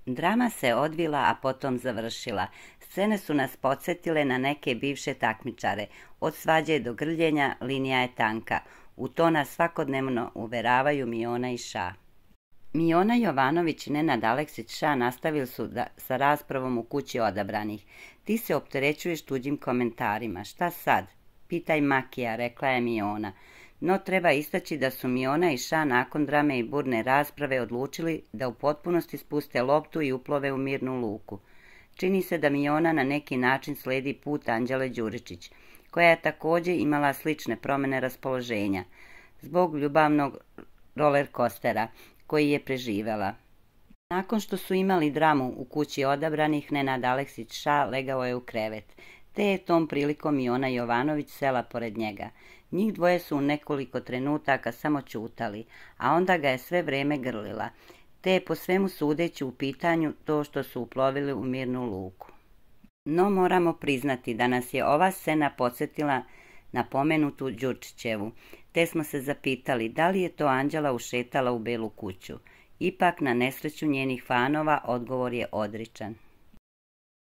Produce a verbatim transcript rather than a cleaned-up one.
Drama se odvila, a potom završila. Scene su nas podsjetile na neke bivše takmičare. Od svađe do grljenja linija je tanka. U to nas svakodnevno uveravaju Miona i Ša. Miona Jovanović i Nenad Aleksić Ša nastavili su da, sa raspravom u kući odabranih. Ti se opterećuješ tuđim komentarima. Šta sad? Pitaj Makija, rekla je Miona. No treba istaći da su Miona i Ša nakon drame i burne rasprave odlučili da u potpunosti spuste loptu i uplove u mirnu luku. Čini se da Miona na neki način slijedi put Anđele Đuričić, koja je također imala slične promjene raspoloženja, zbog ljubavnog roller coastera koji je preživjela. Nakon što su imali dramu u kući odabranih, Nenad Aleksić Ša legao je u krevet, te je tom prilikom Miona Jovanović sela pored njega. Njih dvoje su u nekoliko trenutaka samo čutali, a onda ga je sve vrijeme grlila, te je po svemu sudeći u pitanju to što su uplovili u mirnu luku. No moramo priznati da nas je ova scena podsjetila na pomenutu Đurčićevu, te smo se zapitali da li je to Anđela ušetala u Belu kuću. Ipak na nesreću njenih fanova odgovor je odričan.